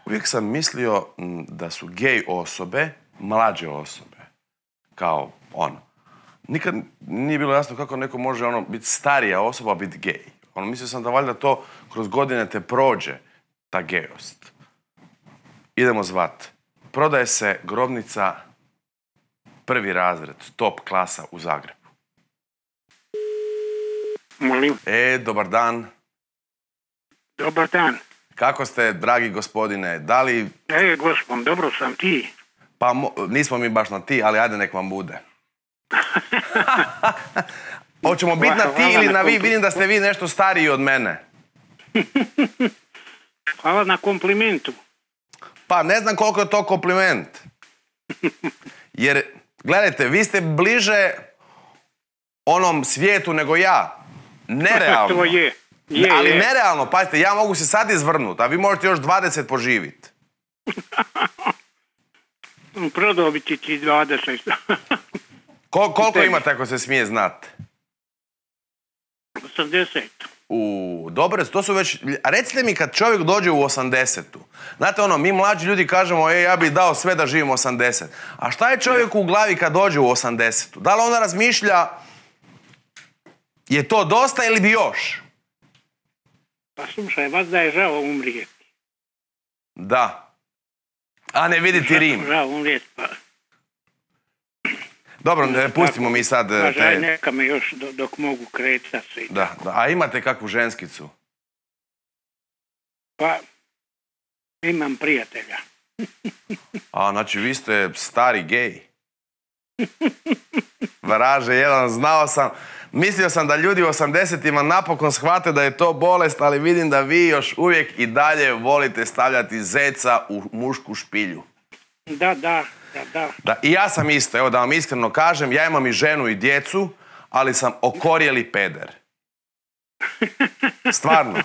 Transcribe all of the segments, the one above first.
Uvijek sam mislio da su gej osobe mlađe osobe. Kao Nikad nije bilo jasno kako neko može biti starija osoba, biti gej. Mislio sam da valjda to kroz godine te prođe, ta gejost. Idemo zvat. Prodaje se grobnica prvi razred, top klasa u Zagrebu. Molim. Dobar dan. Dobar dan. Kako ste, dragi gospodine? Da li... Gospod, dobro sam, ti. Pa nismo mi baš na ti, ali ajde nek vam bude. Hoćemo biti na ti ili na vi? Vidim da ste vi nešto stariji od mene. Hvala na komplimentu. Pa ne znam koliko je to kompliment. Jer, gledajte, vi ste bliže onom svijetu nego ja. Nerealno. To je. Ali nerealno, pazite, ja mogu se sad izvrnuti, a vi možete još 20 poživiti. Prodobiti ti 20. Koliko imate ako se smije znati? 80. Dobro, to su već... Recite mi kad čovjek dođe u 80-tu. Znate mi mlađi ljudi kažemo, ja bih dao sve da živim 80. A šta je čovjeku u glavi kad dođe u 80-tu? Da li ona razmišlja, je to dosta ili bi još? Pa slušaj, vas da je žao umrijeti. Da. A ne viditi Rim. Žao umrijeti, pa... Dobro, pustimo mi sad... Žaj, neka me još dok mogu kretati se. Da. A imate kakvu ženskicu? Pa, imam prijatelja. Znači, vi ste stari gej. Vraže jedan, znao sam... Mislio sam da ljudi u 80-ima napokon shvate da je to bolest, ali vidim da vi još uvijek i dalje volite stavljati zeca u mušku špilju. Da. I ja sam isto, evo da vam iskreno kažem, ja imam i ženu i djecu, ali sam okorjeli peder. Stvarno.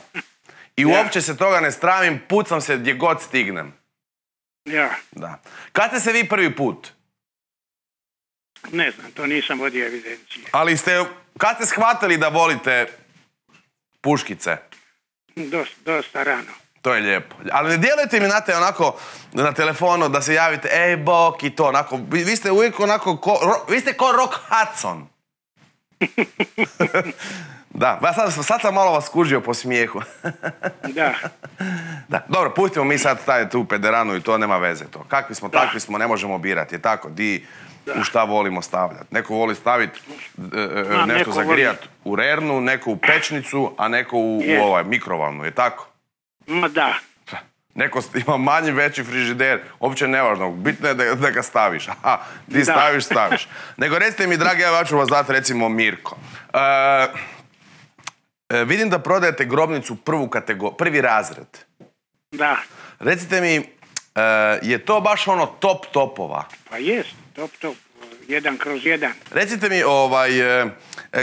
I uopće se toga ne stramim, pucam se gdje god stignem. Ja. Da. Kad ste se vi prvi put? Ne znam, to nisam vodio evidencije. Ali kad ste shvatili da volite puškice? Dosta rano. To je lijepo. Ali ne djelujete mi onako na telefonu da se javite, ej bok i to, onako, vi ste uvijek onako, vi ste ko Rock Hudson. Da, sad sam malo vas skužio po smijehu. Da. Dobro, pustimo mi sad tu pederanu i to nema veze to. Kakvi smo, takvi smo, ne možemo birati, je tako? U šta volimo stavljati. Neko voli staviti nešto za grijat u rernu, neko u pečnicu, a neko u mikrovalnu, je tako? Da. Neko ima manji, veći frižider, uopće nevažno, bitno je da ga staviš. Aha, ti staviš. Nego recite mi, dragi, ja ću vas dati recimo Mirko. Vidim da prodajete grobnicu prvi razred. Da. Recite mi, je to baš top topova? Pa jest, top, 1/1. Recite mi,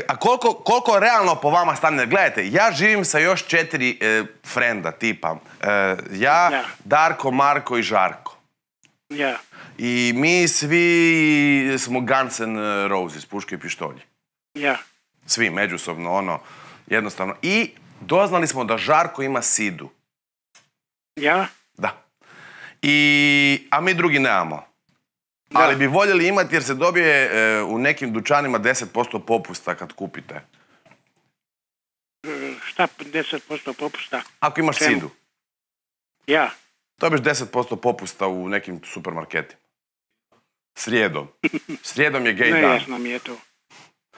a koliko realno po vama stane? Gledajte, ja živim sa još 4 frenda tipa. Ja, Darko, Marko i Žarko. Ja. I mi svi smo Guns N' Roses, puške i pištolji. Ja. Svi, međusobno, jednostavno. I doznali smo da Žarko ima sidu. Ja? Da. A mi drugi nemamo. Da. Ali bi voljeli imati jer se dobije u nekim dućanima 10% popusta kad kupite. Šta 10% popusta? Ako imaš sidu. Ja. Dobiješ 10% popusta u nekim supermarketima. Srijedom. Srijedom je gej dan. Nejasno mi je to.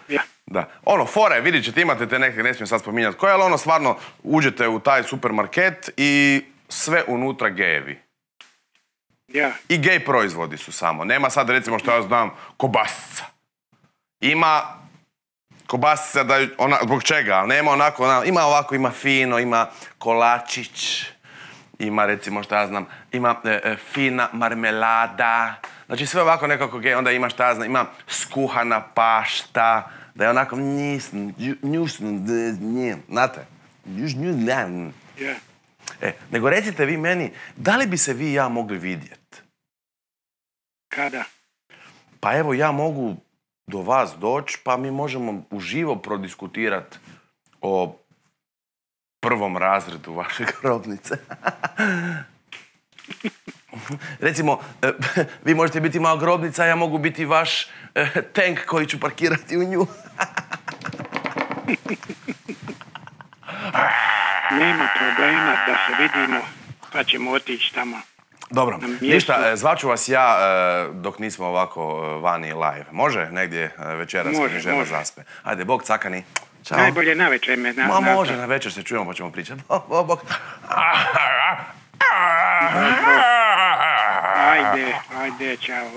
Ja. Da. Fore, vidit ćete, imate te neke, ne smijem sad spominjati koje, ali stvarno uđete u taj supermarket i sve unutra gejevi. Ja. I gej proizvodi su samo. Nema sad, recimo, što ja znam, kobasica. Ima kobasica da zbog čega, ali nema onako, ima ovako, ima fino, ima kolačić, ima, recimo, što ja znam, ima fina marmelada. Znači sve ovako nekako gej, onda ima, što ja znam, ima skuhana pašta, da je onako znate? Ja. Nego recite vi meni, da li bi se vi i ja mogli vidjeti? Kada? Pa evo, ja mogu do vas doći, pa mi možemo uživo prodiskutirati o prvom razredu vaše grobnice. Recimo, vi možete biti moja grobnica, ja mogu biti vaš tank koji ću parkirati u nju. Nema problema da se vidimo, pa ćemo otići tamo. Dobro, ništa, zvaću vas ja dok nismo ovako vani live. Može? Negdje večeras kad mi žena zaspe. Ajde, bok cakani. Ćao. Najbolje na večer me. Može, na večer se čujemo pa ćemo pričati. Bok. Ajde, čao.